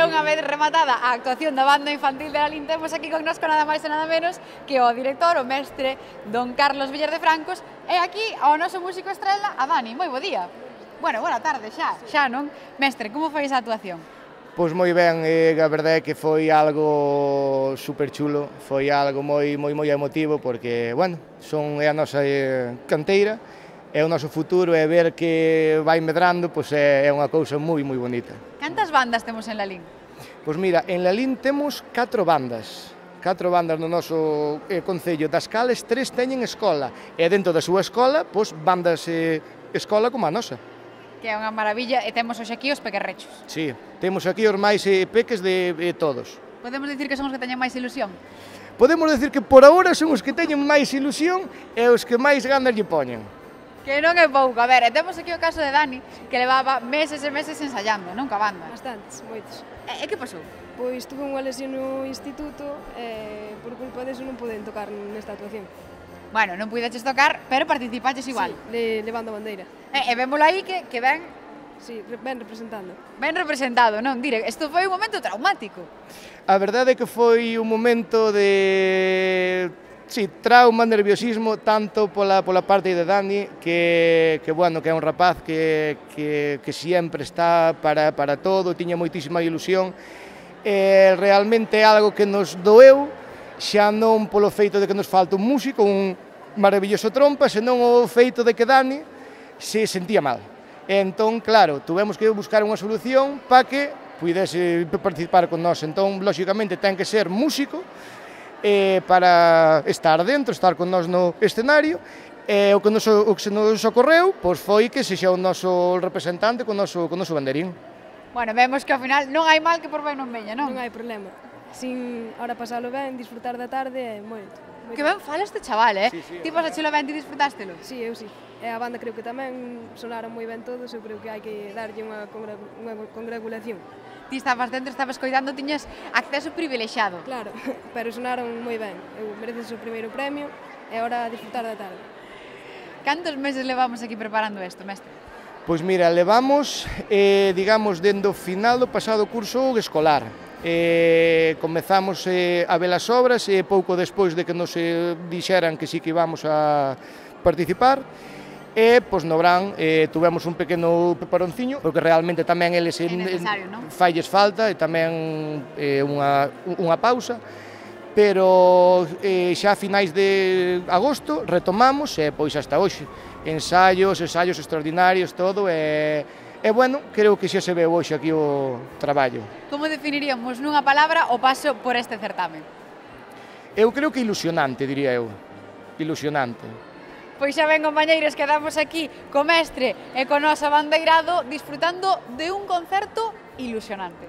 unha vez rematada a actuación da banda infantil de Lalín, temos aquí con nós nada máis e nada menos que o director, o mestre don Carlos Villar de Francos, e aquí ao noso músico estrela, a Dani. Moi bo día. Bueno, boa tarde xa non? Mestre, como foi esa actuación? Pois moi ben, a verdade é que foi algo super chulo, foi algo moi emotivo porque, bueno, é a nosa canteira, é o noso futuro e ver que vai medrando, pois é unha cousa moi bonita. Cantas bandas temos en Lalín? Pois mira, en Lalín temos 4 bandas no noso concello. Das cales 3 teñen escola e dentro da súa escola, pois bandas escola como a nosa. Que é unha maravilla, e temos hoxe aquí os pequerrechos. Sí, temos aquí os máis peques de todos. Podemos dicir que son os que teñen máis ilusión? Podemos dicir que por agora son os que teñen máis ilusión e os que máis ganas lle poñen. Que non é pouco. A ver, e temos aquí o caso de Dani, que levaba meses e meses ensayando, non, ca banda. Bastantes, moitos. E que pasou? Pois tuve unha lesión no instituto e por culpa deso non poden tocar nesta actuación. Bueno, non puideches tocar, pero participaches igual. Sí, levando a bandeira. E vémolo aí que ben... Sí, ben representando. Ben representado, non? Dire, isto foi un momento traumático. A verdade é que foi un momento de... Sí, trauma, nerviosismo, tanto pola parte de Dani, que bueno, que é un rapaz que sempre está para todo, tiña moitísima ilusión, e realmente é algo que nos doeu, xa non polo feito de que nos falta un músico, un maravilloso trompa, senón o feito de que Dani se sentía mal. E entón, claro, tuvemos que buscar unha solución para que puidese participar con nós. Entón, lóxicamente, ten que ser músico, para estar dentro, estar con nós no escenario, e o que nos ocorreu pois foi que sexa o noso representante con o noso banderín. Bueno, vemos que ao final non hai mal que por ben non veña, non? Non hai problema. Sin ahora pasalo ben, disfrutar da tarde é moito. Que ben fala este chaval, Sí, sí, Ti pasachelo ben, ti disfrutástelo? Sí, eu sí. E a banda creo que tamén sonaron moi ben todos, eu creo que hai que darlle unha congratulación. Ti estabas dentro, estabas coidando, tiñas acceso privilexiado. Claro, pero sonaron moi ben. Eu mereces o primeiro premio e agora a disfrutar da tarde. Cantos meses levamos aquí preparando isto, mestre? Pois mira, levamos, digamos, dende o final do pasado curso escolar. Comezamos a ver as obras e pouco despois de que nos dixeran que sí que íbamos a participar, e, pois, no verán, tuvemos un pequeno peparonciño, porque realmente tamén eles falles falta, e tamén unha pausa, pero xa a finais de agosto retomamos, e, pois, hasta hoxe, ensaios extraordinarios, todo, e, bueno, creo que xa se veu hoxe aquí o traballo. Como definiríamos nunha palabra o paso por este certamen? Eu creo que ilusionante, diría eu, ilusionante. Pois xa ben, compañeiros, quedamos aquí co mestre e co noso abandeirado disfrutando de un concerto ilusionante.